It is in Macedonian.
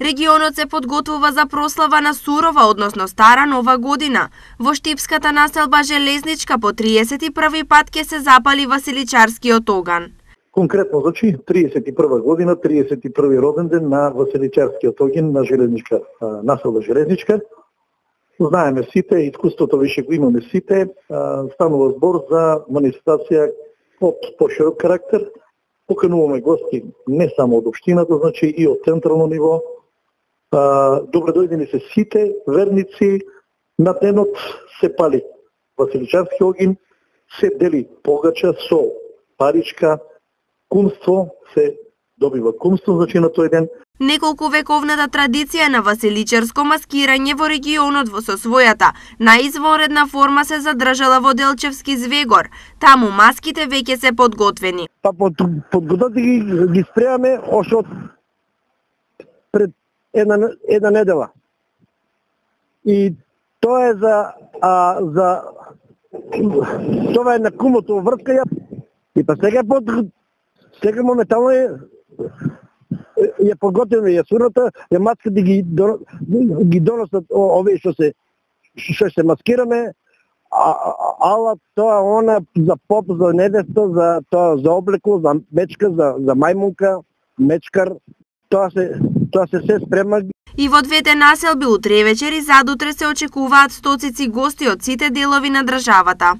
Регионот се подготвува за прослава на сурова, односно стара нова година. Во штипската населба Железничка по 31 пат ќе се запали Василичарскиот оган. Конкретно, значи, 31 година, 31 роден ден на Василичарскиот оган на Железничка, населба Железничка. Знаеме сите, искуството више го имаме сите, станува збор за манифестација од поширок карактер. Покануваме гости не само од општината, значи и од централно ниво. Добре дојдени се сите верници. На денот се пали Василичарски огин, се дели погача со паричка, кумство, се добива кумство, значи на тој ден. Неколку вековната традиција на василичарско маскирање во регионот со својата најизвонредна форма се задржала во Делчевски Звегор. Таму маските веќе се подготвени. Па подготовки ги спремаме още од пред една недела. И тоа е тоа е на кумото врска. И па сега моментално ја подготвиме ја сурната, ја маските ги доносат овие што се маскираме, ала тоа она за поп, за невеста, за тоа за облекло, за мечка, за мајмунка, мечкар, тоа се спрема. И во двете населби утре вечер и задутре се очекуваат стоцици гости од сите делови на државата.